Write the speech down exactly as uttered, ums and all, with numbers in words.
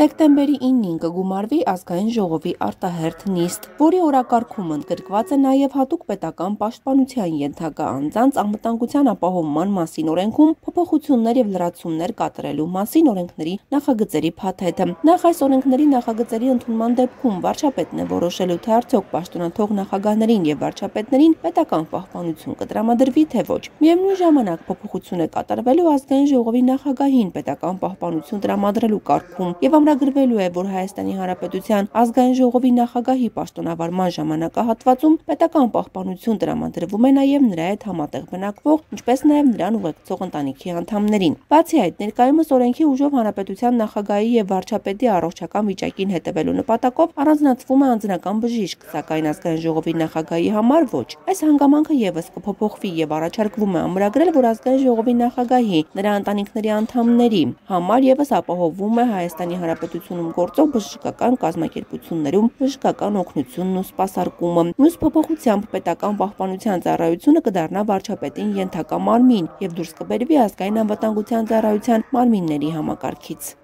Դեկտեմբերի իննին կգումարվի ազգային ժողովի արտահերթ նիստ, որի օրակարգում ընդգրկված է նաև հատուկ պետական պաշտպանության ենթակա անձանց անվտանգության ապահովման մասին օրենքում փոփոխություններ եւ լրացումներ կատարելու մասին օրենքների նախագծերի փաթեթը։ Նախ այս օրենքների նախագծերի ընդունման դեպքում վարչապետն է որոշելու, թե արդյոք պաշտոնաթող նախագահներին եւ վարչապետներին պետական պահպանություն կտրամադրվի, թե ոչ։ Միևնույն ժամանակ փոփոխություն է կատարվելու ազգային ժողովի նախագահին պետական պահպանություն տրամադրելու կարգում եւ ամրագրվելու է, որ Հայաստանի Հանրապետության ազգային ժողովի նախագահի պաշտոնավարման ժամանակահատվածում պետական պահպանություն տրամադրվում է նաև նրա հետ համատեղ բնակվող, ինչպես նաև նրան ուղեկցող ընտանիքի անդամներին։ Բացի այդ, ներկայումս օրենքի ուժով հանրապետության նախագահի եւ վարչապետի առողջական վիճակին հետևելու նպատակով առանձնացվում է անձնական բժիշկ, սակայն ազգային ժողովի նախագահի համար ոչ։ Այս հանգամանքը եւս կփոփոխվի եւ առաջարկվում է ամրագրել, որ ազգային ժողովի նախագահի, նրա ընտանիքների անդամների համար եւս ապահովվում է Հայաստանի Հանրապետությունում գործող բժշկական կազմակերպություններում բժշկական օգնությունն ու սպասարկումը։ Մյուս փոփոխությամբ պետական պահպանության ծառայությունը կդառնա վարչապետին ենթակա մարմին եւ դուրս կբերվի ազգային անվտանգության ծառայության մարմինների համակարգից։